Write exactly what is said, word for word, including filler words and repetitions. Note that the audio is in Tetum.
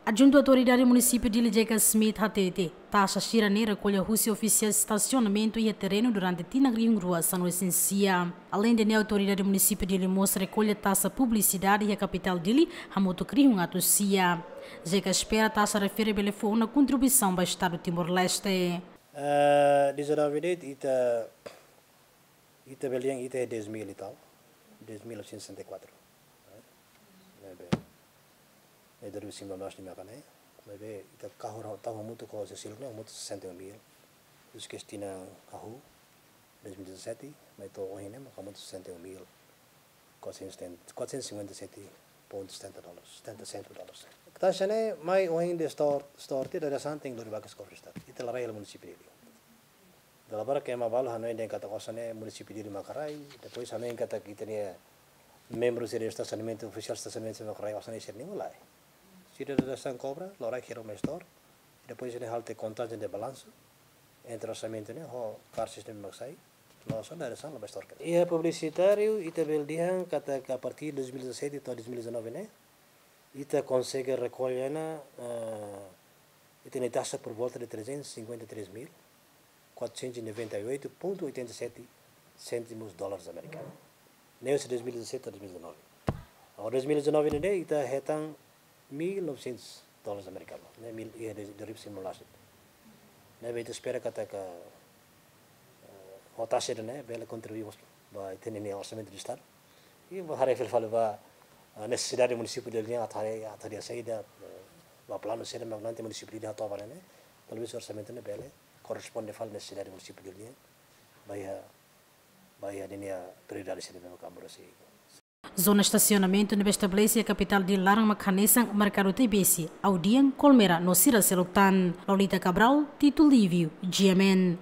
Adjuntu Autoridade Munisípiu Dili J K Smith hatete, taxa sira-ne'e rekolla husi ofisiál estasionamentu iha terrenu durante tinan rihun rua sanulu-resin-sia. Aleinde ne'e, Autoridade Munisípiu Dili mós rekolla taxa publisidade iha kapitál Dili hamutuk rihun atus sia. J K espera taxa refere bele fó ona kontribuisaun ba Estadu Timor-Leste. Eh, dezanove ne'e ita, ita bele dehan ita é dez mil e tal, dez mil novecentos e sessenta e quatro. Ne'ebé, ne'e dua ribu sembilan belas ne'e maka ne'e, maibé ita kahur tau hamutuk ho sira seluk ne'e hamutuk sessenta e um mil. Depois ke tinan hahú, dois mil e dezassete, mai to'o ohin ne'e maka hamutuk sessenta e um mil quatrocentos e setenta, quatrocentos e cinquenta e sete ponto setenta dólares, setenta centos dólares. Taxa ne'e mai ohin de store, store tiha, dadeer-saan tenke lori ba kofre Estadu. Ita la rai hela munisípiu Dili. Dala barak ema balu hanoin dehan katak osan ne'e munisípiu Dili maka rai, depois hanoin katak ita-nia membru sira estasionamentu, ofisiál estasionamentu maka rai, osan ne'e sira-nian, lae. Sira dadeer-saan kobra, loron kedas mai store, depois ne'e halo tiha kontagem de balansu entre orsamentu ne'e ho karsis ne'ebé mak sai, loos ona dadeer-saan la'o ba store. Iha publisitáriu, ita bele dehan katak a partir de dois mil e dezassete to'o dois mil e dezanove ne'e, ita konsege rekolla ona, eh, ita-nia taxa por volta de trezentos e cinquenta e três mil quatrocentos e noventa e oito ponto oitenta e sete cêntimos dólares americanos. Ne'e husi dois mil e dezassete a dois mil e dezanove. Agora, dois mil e dezanove ne'e, ita hetan mil e novecentos dólares americanos. Ne'e mil, iha de, de ripsim no lasit. Ne'ebé ita espera katak, eh, ho taxa ne'e bele kontribui mós ba ita-nia orsamentu de Estadu. I ba haree fali ba, eh, nesesidade munisípiu Dili nian, atu haree, atu haree saida, eh, ba planu saida mak nanti munisípiu Dili hato'o ba ne'e, talvés orsamentu ne'e bele korresponde fali nesesidade munisípiu Dili nian, ba iha, ba iha ninia prioridade saida mak amorosi. Zona estasionamentu ne'ebé estabelese iha kapitál Dili laran mak hanesan Merkadu T B C, Audian, Colmera no sira seluk tan. Lolita Cabral, Tito Livio, G M N.